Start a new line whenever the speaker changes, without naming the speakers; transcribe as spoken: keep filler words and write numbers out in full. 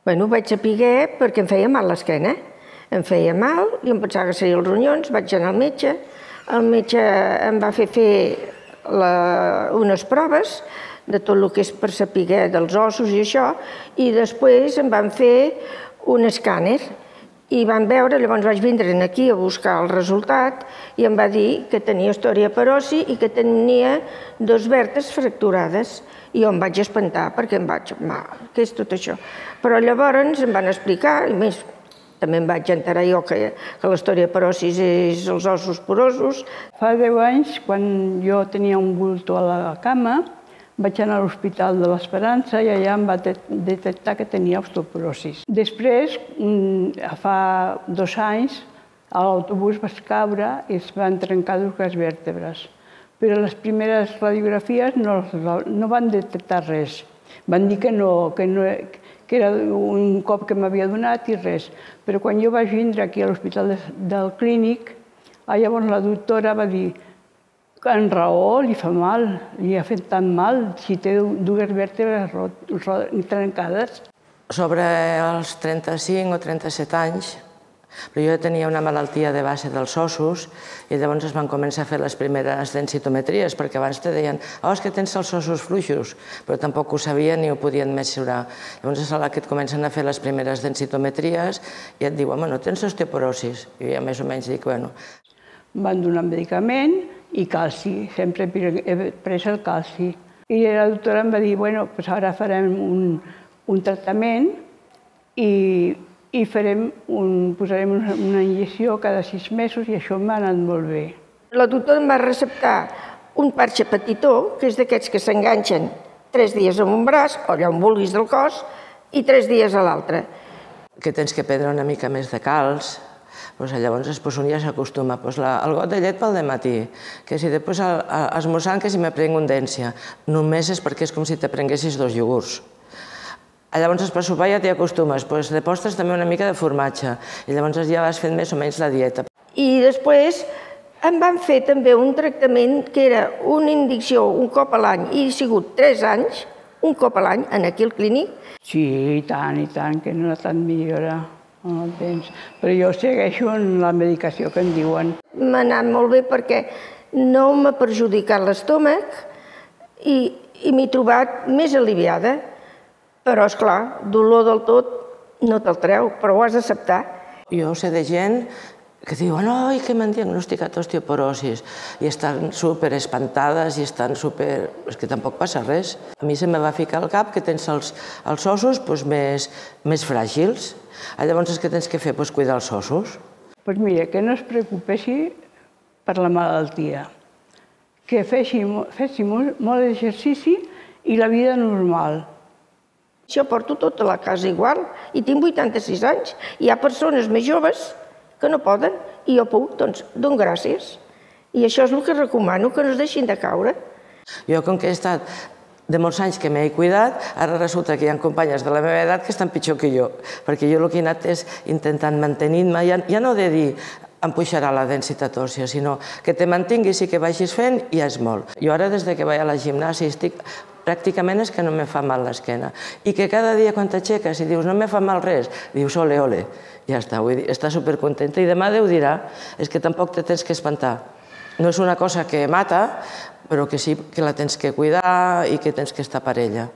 Bé, ho vaig saber perquè em feia mal l'esquena. Em feia mal i em pensava que serien els ronyons, vaig anar al metge. El metge em va fer fer unes proves de tot el que és per saber dels ossos i això, i després em van fer un escàner i van veure, llavors vaig vindre aquí a buscar el resultat i em va dir que tenia osteoporosi i que tenia dos vèrtebres fracturades. I jo em vaig espantar perquè em vaig... Què és tot això? Però llavors em van explicar, i més, també em vaig enterar jo que l'osteoporosi és els ossos porosos.
Fa deu anys, quan jo tenia un bulto a la cama, vaig anar a l'Hospital de l'Esperança i allà em va detectar que tenia osteoporosi. Després, fa dos anys, a l'autobús vaig caure i es van trencar dues vèrtebres. Però les primeres radiografies no van detectar res. Van dir que no, que era un cop que m'havia donat i res. Però quan jo vaig vindre aquí a l'Hospital del Clínic, llavors la doctora va dir que en raó li fa mal, li ha fet tant mal si té dues vèrtebres trencades.
Sobre els trenta-cinc o trenta-set anys, però jo tenia una malaltia de base dels ossos i llavors es van començar a fer les primeres densitometries, perquè abans te deien oh, és que tens els ossos fluixos, però tampoc ho sabien ni ho podien mesurar. Llavors és a la que et comencen a fer les primeres densitometries i et diuen, bueno, tens osteoporosi. I jo més o menys dic, bueno...
Em van donar medicament i calci, sempre he pres el calci. I la doctora em va dir, bueno, doncs ara farem un tractament i i posarem una injecció cada sis mesos i això m'ha anat molt bé.
La doctora em va receptar un parxe petitó, que és d'aquests que s'enganxen tres dies en un braç, o allà on vulguis del cos, i tres dies a l'altre.
Que tens que prendre una mica més de calç, llavors un ja s'acostuma. El got de llet pel dematí, que si després esmorzant que si me prenc un dència, només és perquè és com si te prenguessis dos iogurts. Llavors per sopar ja t'hi acostumes, de postres també una mica de formatge i llavors ja vas fent més o menys la dieta.
I després em van fer també un tractament que era una injecció un cop a l'any i he sigut tres anys, un cop a l'any, aquí al Clínic.
Sí, i tant, i tant, que no tant millora amb el temps. Però jo segueixo en la medicació que em diuen.
M'ha anat molt bé perquè no m'ha perjudicat l'estómac i m'he trobat més aliviada. Però, esclar, dolor del tot no te'l treu, però ho has d'acceptar.
Jo sé de gent que diuen oi, que m'han diagnosticat osteoporosi i estan super espantades i estan super... És que tampoc passa res. A mi se me va ficar al cap que tens els ossos més fràgils. Llavors, què tens que fer? Doncs cuidar els ossos.
Doncs mira, que no es preocupessi per la malaltia, que fessi molt exercici i la vida normal.
Jo porto tota la casa igual i tinc vuitanta-sis anys. Hi ha persones més joves que no poden i jo puc, doncs dono gràcies. I això és el que recomano, que no es deixin de caure.
Jo, com que he estat de molts anys que m'he cuidat, ara resulta que hi ha companyes de la meva edat que estan pitjor que jo, perquè jo el que he anat és intentant mantenir-me, ja no de dir em pujarà la densitat òssia, sinó que te mantinguis i que vagis fent i ja és molt. Jo ara, des que vaig a la gimnàsia, estic pràcticament és que no me fa mal l'esquena. I que cada dia quan t'aixeques i dius no me fa mal res, dius ole, ole, ja està, vull dir, està supercontenta i demà Déu dirà, és que tampoc te tens que espantar. No és una cosa que mata, però que sí que la tens que cuidar i que tens que estar per ella.